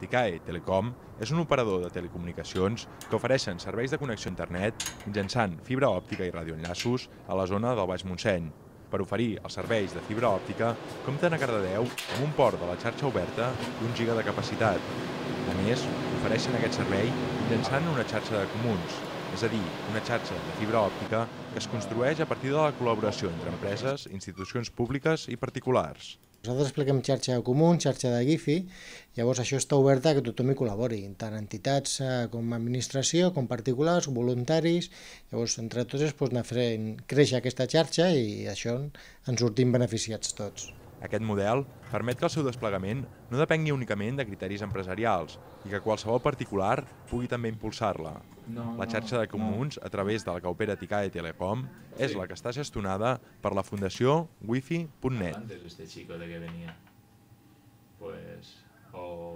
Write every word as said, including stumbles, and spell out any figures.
Ticae Telecom és un operador de telecomunicacions que ofereixen serveis de connexió a internet mitjançant fibra òptica i radioenllaços a la zona del Baix Montseny. Per oferir els serveis de fibra òptica, compten a Cardedeu amb un port de la xarxa oberta d'un giga de capacitat. A més, ofereixen aquest servei mitjançant una xarxa de comuns, és a dir, una xarxa de fibra òptica que es construeix a partir de la col·laboració entre empreses, institucions públiques i particulars. Nosaltres expliquem xarxa de comú, xarxa de Wi-Fi, llavors això està obert a que tothom hi col·labori, tant entitats com administració, com particulars, voluntaris, llavors entre tots es pot anar fent créixer aquesta xarxa i això ens sortim beneficiats tots. Aquest model permet que el seu desplegament no depengui únicament de criteris empresarials i que qualsevol particular pugui també impulsar-la. La xarxa de comuns, a través de la que opera Ticae Telecom, és la que està gestionada per la Fundació Wifi punt net. Antes este chico de que venía, pues, o